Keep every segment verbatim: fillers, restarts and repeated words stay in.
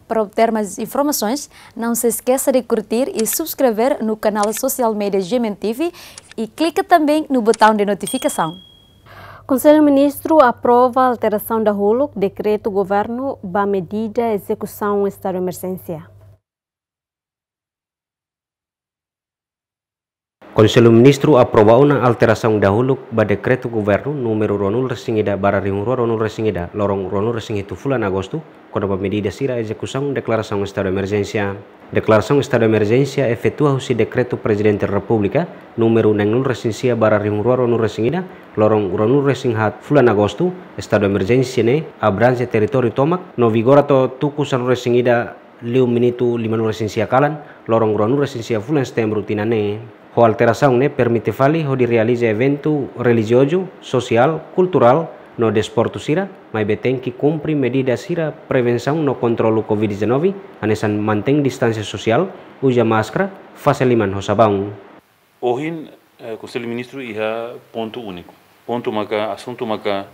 Para obter mais informações, não se esqueça de curtir e subscrever no canal social media G M N T V e clica também no botão de notificação. Konsellu Ministru aprova alterasaun dahuluk dekretu governu ba medida ezekusaun estadu emerjénsia. Konsellu Ministru aprova ona alterasaun dahuluk ba dekretu governu númeru ruanulu resin ida barra rihun rua ruanulu resin ida, loron ruanulu resin hitu fulan Agostu, kona-ba medida sira ezekusaun deklarasaun estadu emerjénsia. Deklarasaun estadu emerjénsia efetua husi dekretu Prezidente Repúblika númeru neenulu resin sia barra rihun rua ruanulu resin ida, loron ruanulu resin haat fulan Agostu, estadu emerjénsia ne'e abranje territóriu tomak, no vigora to'o tuku sanulu resin ida liu minutu limanulu resin sia kalan, loron ruanulu resin sia fulan Setembru tinan ne'e. Ho alterasaun ne'e permite fali hodi realiza eventu relijiozu, sosiál, kulturál, no desportu sira, maibé tenke kumpre medida sira prevensaun no kontrolu covid dezanove, hanesan mantein distánsia sosiál, uza máskara, fase liman ho sabaun. Ohin, eh, Konsellu Ministru iha pontu úniku. Pontu maka, asuntu maka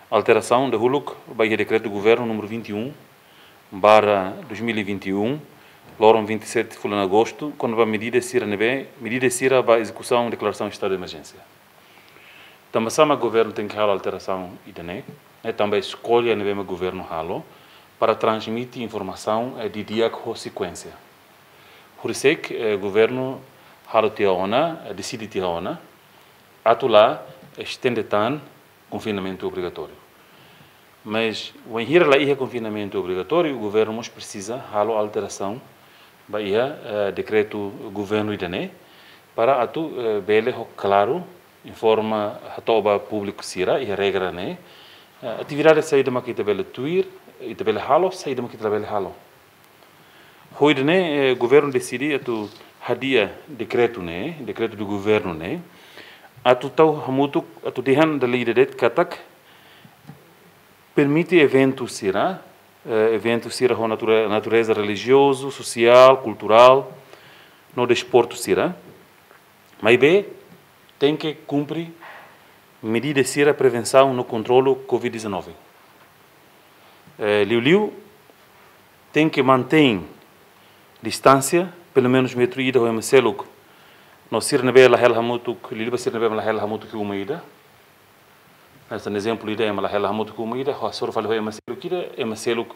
alterasaun dahuluk ba iha dekretu governu númeru vinte e um barra dois mil e vinte e um, loron vinte e sete fulan Agostu, kona-ba medida sira ne'ebé, medida sira ba ezekusaun deklarasaun estadu de emerjénsia. Tanba sá mak governu tenke halo alterasaun ida-ne'e, ne'e tanba eskolha ne'ebé mak governu halo para transmite informasaun, eh, didi'ak ho sekuénsia. Hursek, eh, governu halo tiha ona, eh, deside tiha ona, atu la estende tan konfinamentu obrigatóriu. Mas, wainhira la iha konfinamentu obrigatóriu, governu mós presiza halo alterasaun ba iha, eh, dekretu governu ida-ne'e, para atu, eh, bele ho klaru informa hato'o ba públiku sira iha regra ne'e, eh, atividade saida mak ita bele tuir, ita bele halo, saida mak ita labele halo. Ho ida-ne'e, eh, governu deside atu hadi'a dekretu ne'e, dekretu do governu ne'e, atu tau hamutuk, atu dehan dala ida de'it katak permite eventu sira, eh, eventu sira ho nature-, natureza relijiozu, sosiál, kulturál, no desportu sira. Maibé, tenke kumpre medida sira prevensaun no kontrolu covid dezanove. Eh, liuliu, tenke mantein distánsia, pelumenus metru ida ho ema seluk. No sira ne'ebé la hela hamutuk, liuliu ba sira ne'ebé la hela hamutuk iha uma ida. Hanesan ezemplu ida, ema la hela hamutuk iha uma ida, hasoru fali ho ema seluk ida, ema seluk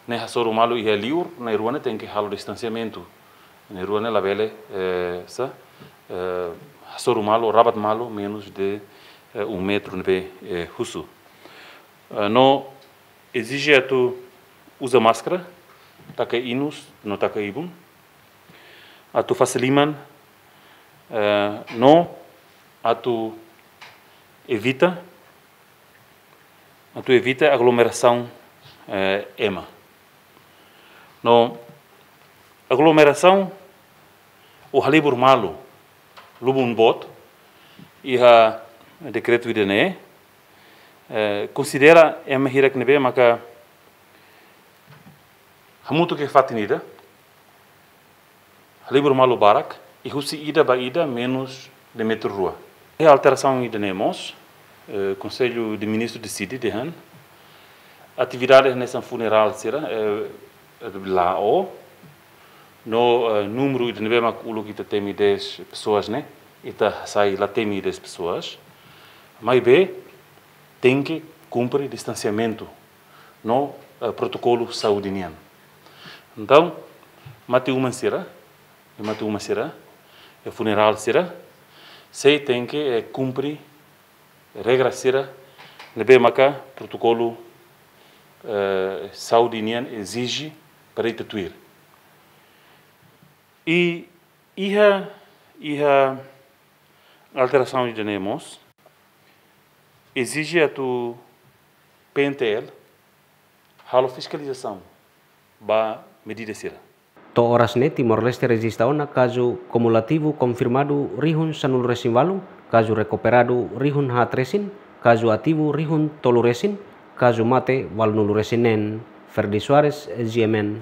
ne'e hasoru malu iha liur, na'in-rua ne'e tenke halo distansiamentu. Na'in-rua ne'e labele, eh, sá, eh, hasoru malu, rabat malu, menus de, eh, um metru ne'ebé, eh, husu. Eh, no ezije atu uza máskara, taka inus, no taka ibun, atu fase liman, eh, no atu evita, atu evita aglomerasaun, eh, ema. No aglomerasaun ou halibur malu, lubun boot, iha dekretu ida-ne'e, eh, konsidera ema hirak ne'ebé maka hamutuk iha fatin ida, halibur malu barak, i husi ida ba ida menus de metru rua. Iha alterasaun ida-ne'e mós, eh, Konsellu de Ministru deside dehan atividade hanesan funerál sira, eh, la'o, no, eh, númeru ida ne'ebé mak uluk ita temi dez pessoas ne'e, ita hasai la temi dez pessoas. Maibé, tenke kumpre distansiamentu no, eh, protokolu saúde nian. Entaun, mate-uma sira, i mate-uma sira, i funerál sira, sei tenke, eh, kumpre regra sira ne'ebé maka protokolu, eh, saúde nian ezije para ita tuir. I iha, iha alterasaun ida-ne'e mós, ezije atu P N T L halo fiskalizasaun ba medida sira. To'o oras ne'e Timor-Leste rejista ona kazu kumulativu konfirmadu rihun sanulu resin ualu, kazu rekuperadu rihun haat resin, kazu ativu rihun tolu resin, kazu mate ualunulu resin neen. Ferdi Soares, G M N.